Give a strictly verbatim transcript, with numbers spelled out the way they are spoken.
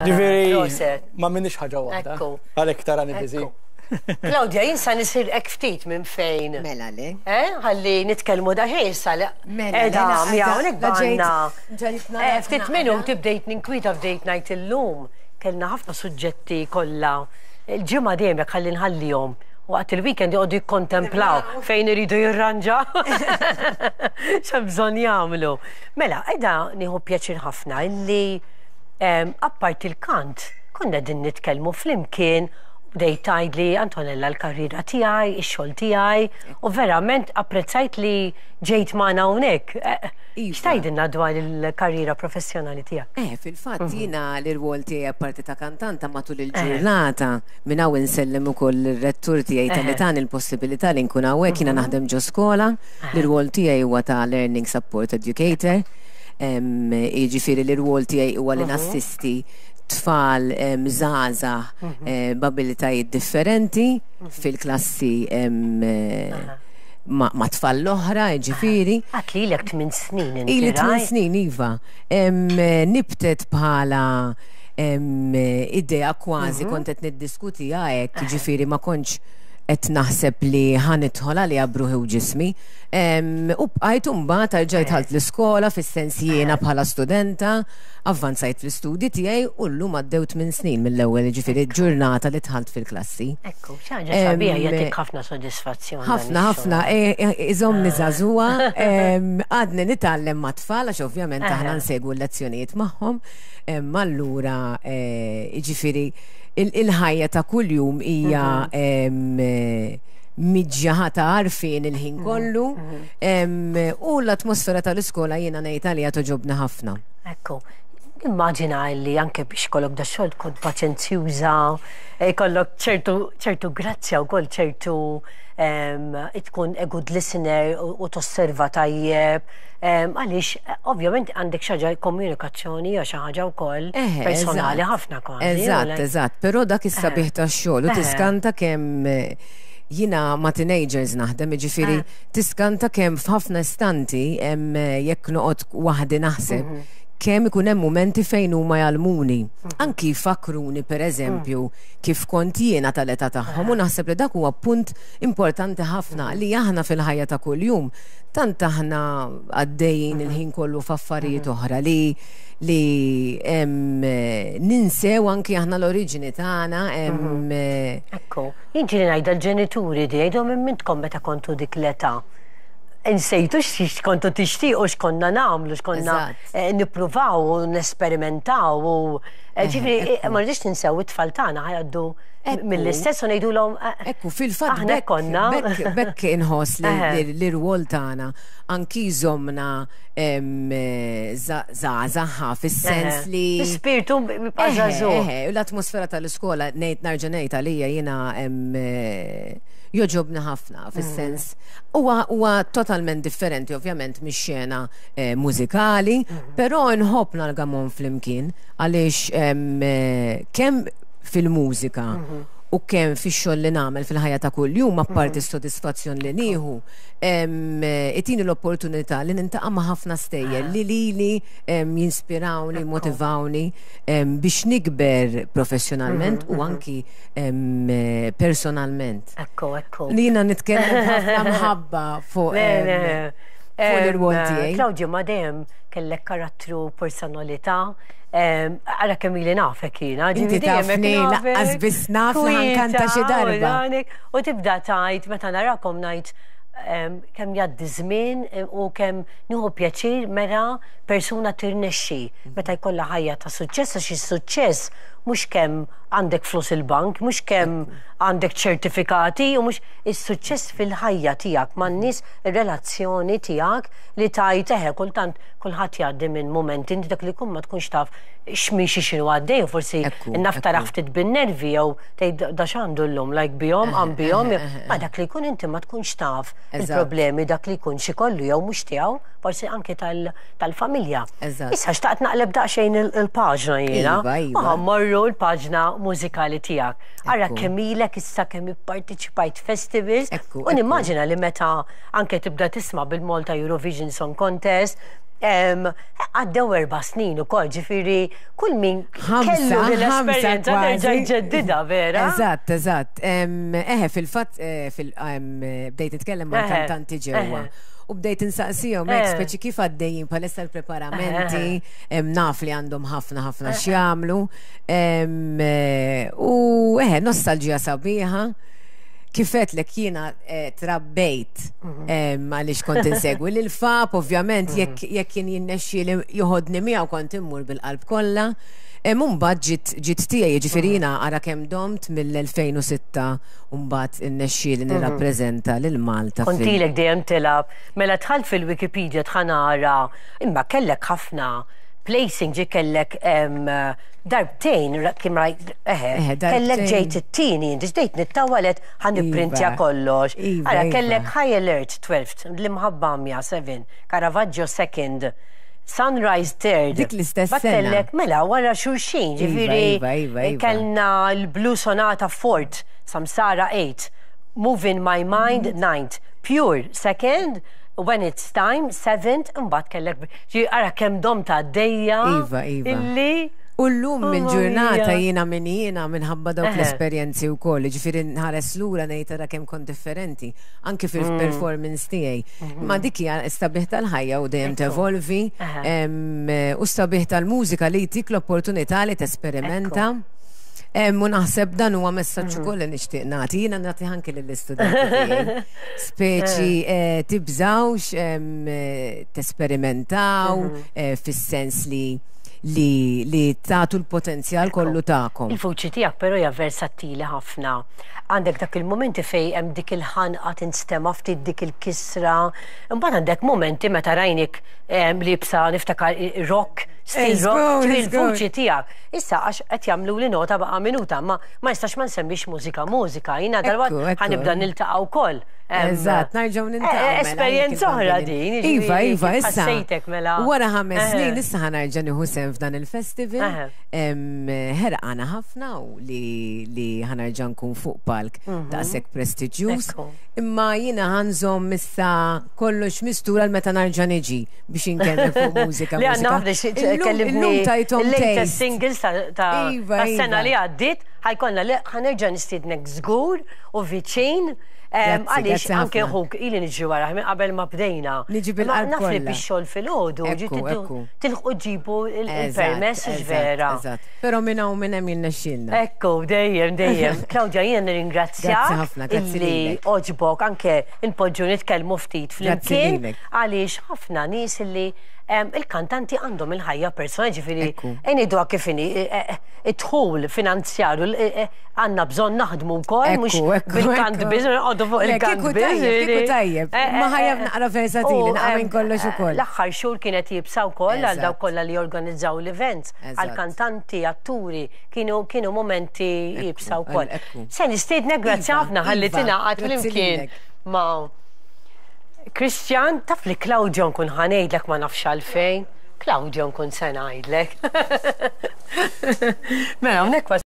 Ġifieri, ma minix ħaġa waħda. Għalhekk tarani busy. Claudia, jien sa nisir ftit minn fejn. Mela le. Eh, ħalli nitkellmu da ħej sa li. Mela, Edha, le, hawnhekk la ġejt- għandna. ġejt Eh, nara ftit naqra. minuti bdejt ninkwita, bdejt ngħid illum. Kellna ħafna suġġetti kollha. Il-ġimgħa dejjem jekk ħalli nħallihom. Waqt il-weekend joqogħdu jikkontemplaw fejn iridu jirranġa. X'hemm bżonn jagħmlu. Mela, qiegħda nieħu pjaċir ħafna illi em, apparti il-kant, konna din nitkellmu flimkien, bdejt tgħidli, "Antonella, l-karriera tiegħi, ix-xogħol tiegħi", u verament apprezzajt li ġejt magħna hawnhekk. Eh, Iva. X'tgħidilna dwar il-karriera professjonali tiegħek? Eh, fil-fatt jiena l-irwol tiegħi, apparti ta' kantanta matul il-ġurnata, minn hawn insellem ukoll ir-rettur tiegħi talli tani l-possibilità li nkun hawnhekk, jiena naħdem ġo skola, l-irwol tiegħi huwa ta' Learning Support Educator. Em, Jiġifieri l-irwol tiegħi huwa li nassisti tfal em, żgħażagħ eh, b'abilitajiet differenti fil-klassi em, eh, ma' ma' tfal l-oħra, jiġifieri. Għedt li ilek tmien snin inti, Ili tmien right? snin, iva. Em, nibtet bħala em, idea kważi, kont qed niddiskutiha hekk, ġifieri ma kontx qed naħseb li ħa nidħol għaliha b'ruħi u ġismi. Em, U bqajt, mbagħad erġajt dħalt l-iskola, fis-sens jiena bħala studenta, avvanzajt fl-istudji tiegħi u llum għaddew tmien snin mill-ewwel, ġifieri ġurnata li dħalt fil-klassi. Ekku, xi ħaġa sabiħa, jagħtik ħafna sodisfazzjon dan Ħafna, ħafna, ix-xogħol. e- e- iżommni żagħżugħa, em, għadni nitgħallem ma' tfal, għax ovvjament aħna nsegwu l-lezzjonijiet magħhom, em, allura, eh, jiġifieri, il- il-ħajja ta' kuljum hija em, eh, miġja ta' għarfien il-ħin kollu, em, u l-atmosfera tal-iskola jiena ngħid għalija togħġobni ħafna. Ekku, immaġina li anke biex ikollok da xogħol tkun paċenzjuża, jkollok ċertu ċertu grazzja wkoll, ċertu em, tkun a good listener u u tosserva tajjeb. em, Għaliex eh, ovvjament għandek xi ħaġa komunikazzjoni jew xi ħaġa wkoll Eħe, personali eżatt. ħafna kważi. u Eżatt, like- eżatt, però dak is-sabiħ tax-xogħol u Eħe. tiskanta kemm eh, jiena ma' teenagers naħdem, jiġifieri tiskanta kemm f'ħafna istanti hemm eh, jekk noqgħod waħdi naħseb kemm ikun hemm momenti fejn huma jgħallmuni. Anki jfakkruni, pereżempju, kif kont jiena tal-età tagħhom, u naħseb li dak huwa punt importanti ħafna li aħna fil-ħajja ta' kuljum tant aħna għaddejjin il-ħin kollu f'affarijiet oħra li li em, eh, ninsew anki aħna l-oriġini tagħna em, eh, Ekku, jien ġieli ngħidha l-ġenituri di, jgħidhom minn mintkom meta kontu dik l-età. Insejtu x'kontu tixtiequ, x'konna nagħmlu, x'konna Eżatt. eh, nippruvaw u nesperimentaw u eh, ġifieri eh, ma rridx ninsew it-tfal tagħna ħa jgħaddu Ekku. mill-istess u ngħidulhom eh, Ekku, fil-fatt aħna bekk, konna. bekk, bekk inħoss li Eħe. li- li r-rwol tagħna anki jżommna em, eh, za- żgħażagħ fis-sens li L-ispirtu jibqa' Eħe, żagħżugħ. eħe, u l-atmosfera tal-iskola, ngħid nerġa' ngħid għalija jiena em, eh, jogħġobni ħafna fis-sens huwa huwa totalment differenti ovvjament mix-xena eh, mużikali, però nħobb nalgamhom flimkien għaliex em, eh, kemm fil-mużika u kemm fix-xogħol li nagħmel fil-ħajja ta' kuljum, apparti s-sodisfazzjon li nieħu, em, eh, itini l-opportunità li niltaqa' ma' ħafna stejjer li lili em, jinspirawni, motivawni em, biex nikber professjonalment u anki em, eh, personalment. Ekku, ekku. Li jiena nitkellem ħafna mħabba fuq Le, em, le. fuq l-irwol Em, tiegħi. Claudia, ma dejjem kellek karattru, personalità. em, Ara kemm ili nafek jiena. Inti Ġifieri dejjem hekk tafni, nafek, lanqas biss naf li ħa nkanta xi kwieta, darba. u danik, u tibda tgħid meta narakom ngħid em, kemm jgħaddi żmien em, u kemm nieħu pjaċir meta persuna tirnexxi, meta jkollha ħajja ta' suċċess, għax is-suċċess mhux kemm għandek flus il-bank, mhux kemm għandek ċertifikati, u mhux is-suċċess fil-ħajja tiegħek man-nies, ir-relazzjoni tiegħek li tajt eħe kultant kulħadd jgħaddi minn momenti, inti dak li jkun ma tkunx taf x'miexi, x'inhu għaddej, u forsi Ekku, naf ekku. tara ftit bin-nervi jew tgħid da x'għandu llum, like bihom, għam bihom, ma dak li jkun inti ma tkunx taf Eżatt. il-problemi dak li jkun xi kollu jew mhux tiegħu, forsi anke tal- tal-familja. Eżatt. Issa xtaqt naqleb daqsxejn il- il-paġna jiena. Iva, iva. U ħa mmorru l-paġna mużikali tiegħek. Ara Ekku. kemm ilek issa, kemm ipparteċipajt festivals Ekku, u ekku. nimmaġina li meta anke tibda tisma' bil-Malta Eurovision Song Contest, Għaddew erba' snin ukoll, ġifieri kull min kellu l-esperjenza terġa' jġeddidha, vera? Eżatt, eżatt. Eħe, fil-fatt bdejt nitkellem ma' kantanti ġewwa. U bdejt insaqsihom hekk speċi kif għaddejjin bħalissa l-preparamenti, naf li għandhom ħafna ħafna x'jagħmlu. U eħe, nostalġija sabiħa. Kif għedtlek jiena trabbejt għaliex kont insegwi lil Fab, ovvjament jekk kien jinnexxi li joħodni miegħu kont immur bil-qalb kollha. Mbagħad ġiet ġiet tiegħi, jiġifieri jiena ara kemm domt mill-elfejn u sitta u mbagħad innexxieli nirrappreżenta lil Malta. Kont ilek dejjem tilgħab, mela dħalt fil-Wikipedia tħanara, imma kellek ħafna placing, ġi kellek darbtejn, kim rajt, eħe, kellek ġejt it-tieni, inti ġdejt nittawalet ħan nipprintja kollox. Ara kellek High Alert twelfth, l-Imħabba Għamja seven, Caravaggio second, Sunrise third. Dik l-istess sena. Kellek mela wara xulxin, ġifieri kellna l-Blue Sonata fourth, Samsara eight, Moving My Mind ninth, Pure second, When It's Time seventh, imbagħad kellek ġi ara kemm dom ta' għaddejja. Iva, iva. Illi U llum mill-ġurnata jiena min jiena minħabba dawk l-esperjenzi wkoll, ġifieri nħares lura ngħid ara kemm kont differenti, anke fil-performance tiegħi. Ma dik hija s-sabiħ tal-ħajja u dejjem tevolvi, u s-sabiħ tal-mużika li jtik l-opportunità li tesperimenta. U naħseb dan huwa messaġġ ukoll li nixtieq nagħti, jiena nagħti anke lill-istudenti tiegħi. Speċi tibżawx tesperimentaw fis-sens li li li tagħtu l-potenzjal kollu tagħkom. Il-vuċi tiegħek però hija versatili ħafna. Għandek dak il-momenti fejn hemm dik il-ħanqa tinstema' ftit dik il-kisra. Imbagħad għandek momenti meta rajnik libsa niftakar rock, stil rock, il-vuċi tiegħek. Issa għax qed jagħmlu li nota baqa' minuta, ma ma nistax ma nsemmix mużika mużika. Jiena dalwaqt ħanibda niltaqa' wkoll. Eżatt, nerġgħu niltaqgħu. Esperjenza oħra din. Iva, iva, issa. Wara ħames snin issa ħanerġa' nieħu sehem f'dan il-festival. Ħerqana ħafna u li ħanerġa' nkun fuq palk daqshekk prestiġjuż. Imma jiena ħanżomm issa kollox mistura għal meta nerġa' niġi biex inkellem fuq mużika. Li għandna ħafna kellimni il-latest singles ta' sena li għaddiet, ħajkollna li ħanerġa' nistiednek żgur u viċin. Għaliex anke ħuk ili niġi wara minn qabel ma bdejna. Niġi bil-qalb Naf li bix-xogħol filgħodu, tilħqu ġibu il-permess vera. Però minn hawn minn hemm jirnexxielna. Ekku, dejjem, dejjem. Claudia, jiena nirringrazzjak illi oġbok anke npoġġu nitkellmu ftit flimkien għaliex ħafna nies illi il-kantanti għandhom il-ħajja personali, ġifieri ngħiduha kif inhi id-dħul finanzjarju għandna bżonn naħdmu wkoll mhux bil-kant biss noqogħdu fuq il-kant biss. Kieku tajjeb, ma ħajja naqra versatili, naqra minn kollox ukoll. L-aħħar xhur kienet jibsa wkoll għal dawk kollha li jorganizzaw l-events, għal kantanti, atturi, kienu kienu momenti jibsa wkoll. Se nistiednek, grazzi ħafna ħalli tingħaqad flimkien ma' Christian, taf li Claudio nkun ħanejdlek ma nafx għalfejn. Claudio nkun se ngħidlek. Mela hawnhekk